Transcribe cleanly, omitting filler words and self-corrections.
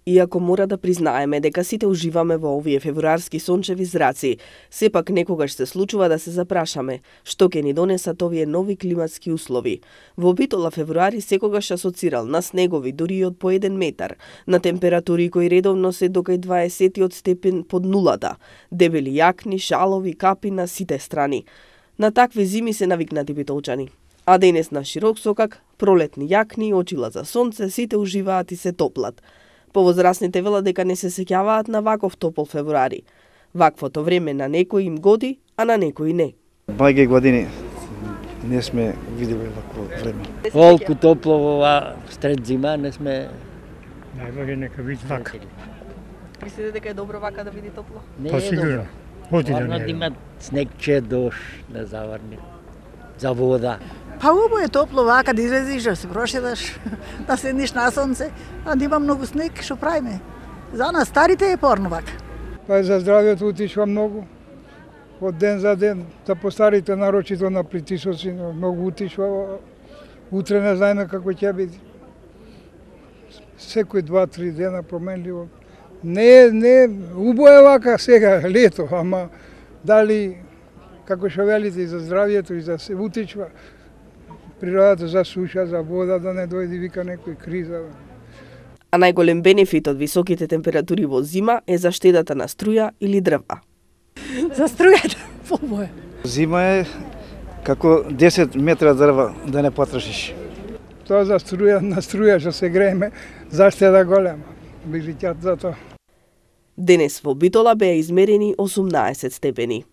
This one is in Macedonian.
Иако мора да признаеме дека сите уживаме во овие февруарски сончеви зраци, сепак некогаш се случува да се запрашаме што ќе ни донесат овие нови климатски услови. Во Битола февруари секогаш асоцирал на снегови дури и од по 1 метар, на температури кои редовно се до кај 20 степен под нулата, дебели јакни, шалови, капи на сите страни. На такви зими се навикнати битолчани. А денес на широк сокак, пролетни јакни, очила за сонце, сите уживаат и се топлат. Повозрасните велат дека не се сеќаваат на ваков топол февруари. Ваквото време на некои им годи, а на некои не. Многи години не сме видели вакво време. Волку топло во ова сред зима не сме. Најбоље нека биде вака. Мислите дека е добро вака да биде топло? Не Па е сигурно. Оди да не да е. има снегче, дош, не заварни. За вода. Па убаво е топло вака да излезеш, да се прошедаш, да седнеш на сонце, а да има многу снег, што правиме? За нас старите е порно вака. Па за здравјето утишва многу. Од ден за ден, за постарите нарочито на притисоци, многу утишва. Утре не знаеме како ќе биде. Секој 2-3 дена променливо. Не, убаво е вака сега, лето, ама дали, како што велите, и за здравјето, и за се утичва, природата за суша, за вода, да не дојде вика некој криза. А најголем бенефит од високите температури во зима е заштедата на струја или дрва. За струјата, побоја. Зима е како 10 метра дрва да не потрошиш. Тоа за струја, на струја што се грееме, заштеда голема. Билиќат за тоа. Денес во Битола беа измерени 18 степени.